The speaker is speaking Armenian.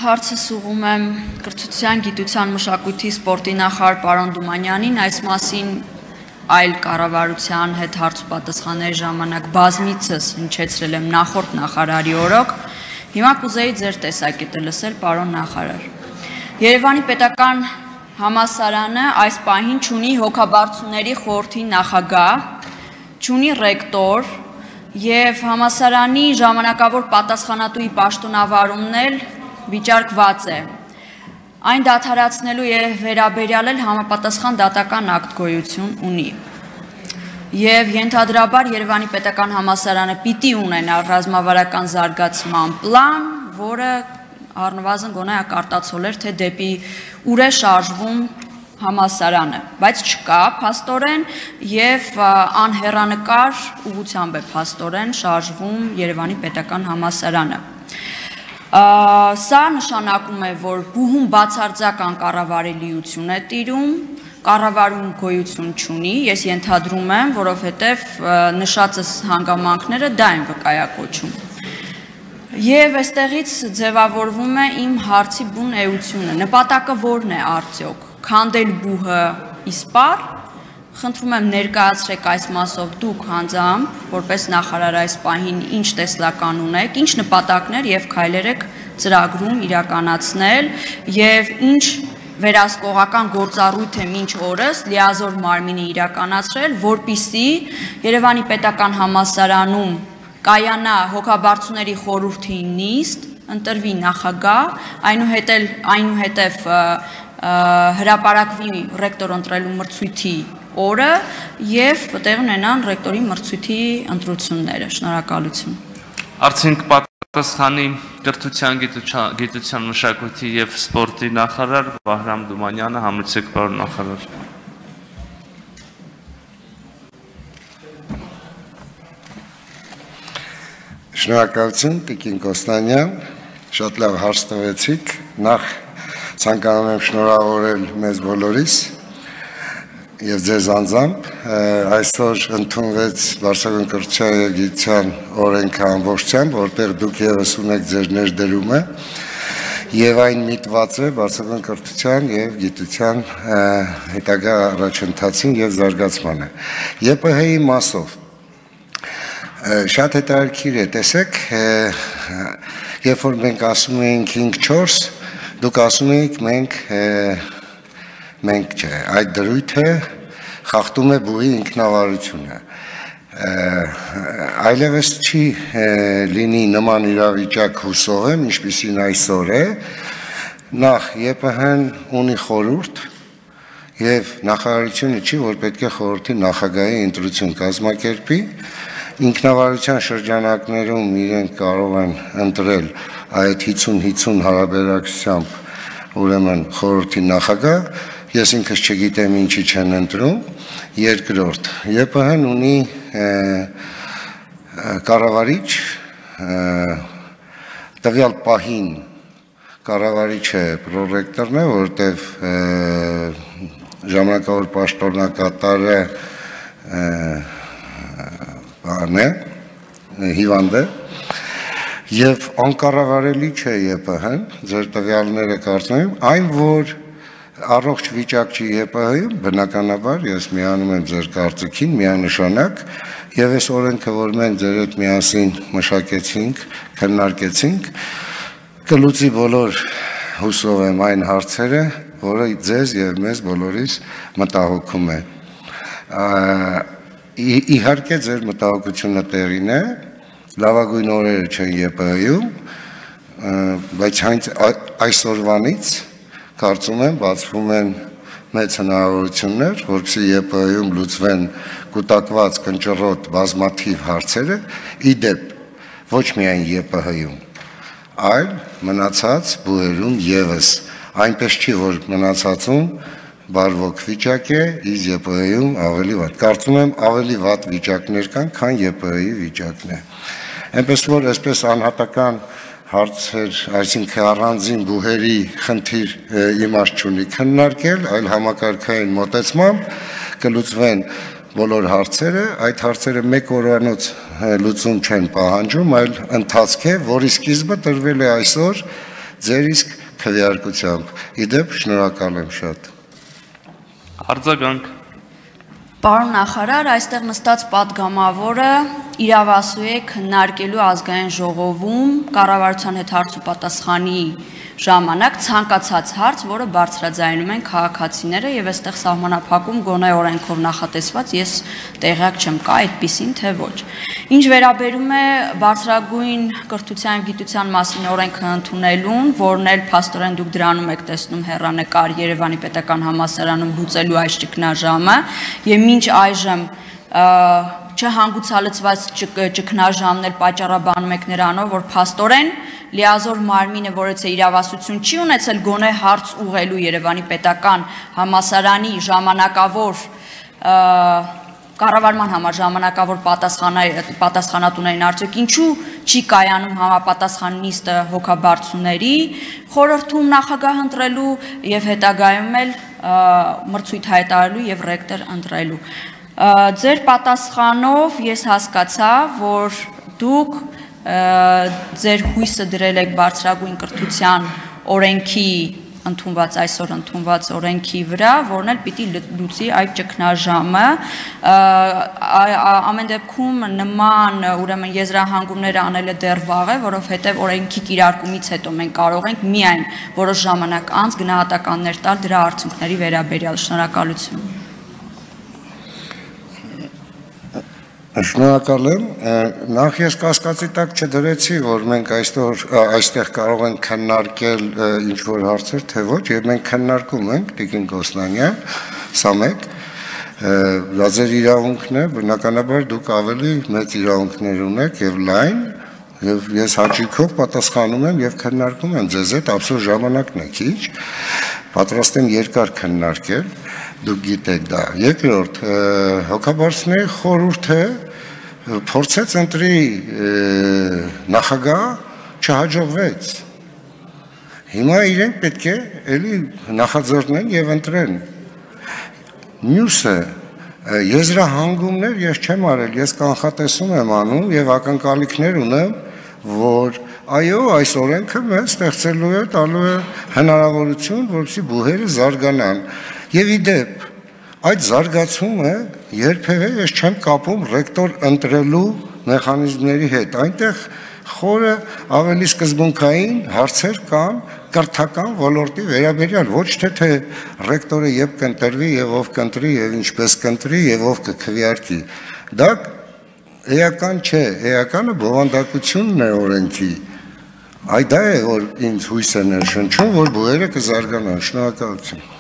Հարցս ուղղում եմ կրթության, գիտության, մշակույթի, սպորտի նախարար պարոն Դումանյանին, այս մասին այլ կառավարության հետ հարց ու պատասխանների ժամանակ բազմիցս հնչեցրել եմ նախորդ նախարարի օրոք, հիմա կուզեի ձեր տեսակետը լսել, պարոն նախարար։ Երևանի պետական համալսարանը այս պահին չունի հոգաբարձուների խորհրդի նախագահ, չունի ռեկտոր եւ համալսարանի ժամանակավոր պատասխանատուի պաշտոնավարումն էլ վիճարկված է։ Այն դադարեցնելու եւ վերաբերյալ էլ համապատասխան դատական ակտ գոյություն ունի։ Եվ ենթադրաբար Երևանի պետական համալսարանը պիտի ունենա ռազմավարական զարգացման պլան, որը առնվազն գոնե ակարտացոլեր, թե դեպի ուր է շարժվում համալսարանը, բայց չկա փաստորեն եւ անհեռանկար ուղղությամբ է փաստորեն շարժվում Երևանի պետական համալսարանը։ Սա նշանակում է, որ բուհում բացարձակ կառավարելիություն է տիրում, կառավարում գոյություն չունի, ես ենթադրում եմ, որովհետև նշածս հանգամանքները դա են վկայակոչում։ Եվ այստեղից ձևավորվում է իմ հարցի բուն էությունը, նպատակը որն է արդյոք, քանդել բուհը իսպառ, խնդրում եմ ներկայացրեք այս մասով դուք հանձամբ, որպես նախարար այս պահին ինչ տեսլական ունեք, ինչ նպատակներ եւ քայլեր եք ծրագրում իրականացնել եւ ինչ վերահսկողական գործառույթ է մինչ օրս լիազոր մարմինի իրականացրել, որպիսի Երևանի պետական համալսարանում կայանա հոգաբարձուների խորհրդի նիստ, ընտրվի նախագահ, այնուհետև հրապարակվի ռեկտոր ընտրելու մրցույթի օրը եւ տեղի ունենան ռեկտորի մրցույթի ընտրությունները։ Շնորհակալություն։ Արդյունք պատասխանի կրթության, գիտության, մշակույթի եւ սպորտի նախարար Վահրամ Դումանյանը, համեցեք պարոն նախարար։ Շնորհակալություն Տիկին Կոստանյան, շատ լավ հարց տվեցիք։ Նախ ցանկանում եմ շնորհավորել մեզ բոլորիս եւ ձեզ անձամբ, այսօր ընդունվեց Վարշավյան կրթության եւ գիտության օրենքը ամբողջությամբ, որտեղ դուք եւս ունեք ձեր ներդրումը եւ այն միտված է Վարշավյան կրթության եւ գիտության հետագա առաջընթացին եւ զարգացմանը։ ԵՊՀ-ի մասով շատ հետաքրքիր է, տեսեք, երբ որ մենք ասում ենք 5-4, դուք ասում եք մենք չէ, այդ դրույթը խախտում է բուհի ինքնավարությունը։ Այլևս չի լինի նման իրավիճակ հուսով եմ, ինչպիսին այսօր է, նախ ԵՊՀ-ն ունի խորհուրդ եւ նախարարությունը չի, որ պետք է խորհրդի նախագահի ընտրություն կազմակերպի, ինքնավարության շրջանակներում իրենք կարող են ընտրել այդ 50-50 հարաբերակցությամբ ուրեմն խորհրդի նախագահ, ես ինքս չգիտեմ ինչի չեն ընտրում, երկրորդ, ԵՊՀ-ն ունի կառավարիչ, տվյալ պահին կառավարիչը պրոռեկտորն է, որտեղ ժամանակավոր պաշտոնակատարը հիվանդ է եւ անկառավարելի չէ ԵՊՀ-ն, ձեր տվյալները կարծում եմ, այն որ առողջ վիճակ չի ԵՊՀ-ում, բնականաբար ես միանում եմ ձեր կարծիքին, միանշանակ եւ այս օրենքը, որ մենք ձեր հետ միասին մշակեցինք, քննարկեցինք, կլուծի բոլոր հուսով եմ այն հարցերը, որը ձեզ եւ մեզ բոլորիս մտահոգում է։ Իհարկե ձեր մտահոգությունը տեղին է, լավագույն օրերը չեն ԵՊՀ-ում, բայց այսօրվանից կարծում եմ բացվում են մեծ հնարավորություններ, որպեսզի ԵՊՀ-ում լուծվեն կուտակված կնճռոտ բազմաթիվ հարցերը, իդեպ ոչ միայն ԵՊՀ-ում, այլ մնացած բուհերում եւս, այնպես չի, որ մնացածում բարվոք վիճակ է, իսկ ԵՊՀ-ում ավելի վատ։ Կարծում եմ ավելի վատ վիճակներ կան, քան ԵՊՀ-ի վիճակն է։ Այնպես որ այսպես անհատական հարցեր, այսինքն առանձին բուհերի խնդիր իմաստ չունի քննարկել, այլ համակարգային մոտեցմամբ կլուծվեն բոլոր հարցերը, այդ հարցերը մեկ օրվանոց լուծում չեն պահանջում, այլ ընթացք է, որի սկիզբը տրվել է այսօր ձեր իսկ քվեարկությամբ։ Իդեպ շնորհակալ եմ շատ։ Արձագանք։ Պարոն նախարար, այստեղ նստած պատգամավորը իրավասու է քննարկելու ազգային ժողովում կառավարության հետ հարց ու պատասխանի ժամանակ ցանկացած հարց, որը բարձրաձայնում են քաղաքացիները եւ այստեղ սահմանափակում գոնե օրենքով նախատեսված, ես տեղյակ չեմ կա այդպիսին թե ոչ։ Ինչ վերաբերում է բարձրագույն կրթության եւ գիտության մասին օրենքը ընդունելուն, որն էլ փաստորեն դուք դրանում եք տեսնում հեռանկար Երևանի պետական համալսարանում լուծելու այս ճգնաժամը եւ մինչ այժմ չհանգուցալցված ճգնաժամն էլ պատճառաբանում եք նրանով, որ փաստորեն լիազոր մարմինը, որից է իրավասություն չի ունեցել գոնե հարց ուղղելու Երևանի պետական համալսարանի ժամանակավոր կառավարման համար ժամանակավոր պատասխանատուներին արդյոք ինչու չի կայանում համապատասխան նիստը հոգաբարձուների խորհրդում նախագահ ընտրելու եւ հետագայում էլ մրցույթ հայտարարելու եւ ռեկտոր ընտրելու։ Ձեր պատասխանով ես հասկացա, որ դուք ձեր հույսը դրել եք բարձրագույն կրթության օրենքի ընդունված այսօր ընդունված օրենքի վրա, որն էլ պիտի լուծի այդ ճգնաժամը, ամեն դեպքում նման ուրեմն եզրահանգումները անելը դեռ վաղ է, որովհետև օրենքի կիրարկումից հետո մենք կարող ենք միայն որոշ ժամանակ անց գնահատականներ տալ դրա արդյունքների վերաբերյալ։ Շնորհակալություն։ Շնորհակալ եմ, նախ ես կասկածի տակ չդրեցի, որ մենք այստեղ կարող ենք քննարկել ինչ-որ հարցեր, թե ոչ, եւ մենք քննարկում ենք, Տիկին Կոսնանյան, սա մեկ, դա ձեր իրավունքն է, բնականաբար դուք ավելի մեծ իրավունքներ ունեք եւ լայն, եւ ես հաճույքով պատասխանում եմ եւ քննարկում եմ ձեզ հետ, ափսոս ժամանակն է քիչ, պատրաստ եմ երկար քննարկել, դուք գիտեք դա։ Երկրորդ, հոգաբարձների խորհուրդը փորձեց ընտրի նախագահ, չհաջողվեց։ Հիմա իրենք պետք է էլի նախաձեռնեն եւ ընտրեն։ Մյուսը եզրահանգումներ ես չեմ արել, ես կանխատեսում եմ անում եւ ակնկալիքներ ունեմ, որ այո, այս օրենքը մեզ ստեղծելու է, տալու է հնարավորություն, որպեսզի բուհերը զարգանան։ Եվ իդեպ, այդ զարգացումը երբևէ ես չեմ կապում ռեկտոր ընտրելու մեխանիզմների հետ, այնտեղ խորը ավելի սկզբունքային հարցեր կան կրթական ոլորտի վերաբերյալ, ոչ թե ռեկտորը երբ կընտրվի եւ ով կընտրի եւ ինչպես կընտրի եւ ով կքվեարկի, դա էական չէ, էականը բովանդակությունն է օրենքի, այդ դա է, որ ինձ հույս է ներշնչում, որ բուհերը կզարգանան, շնորհակալություն։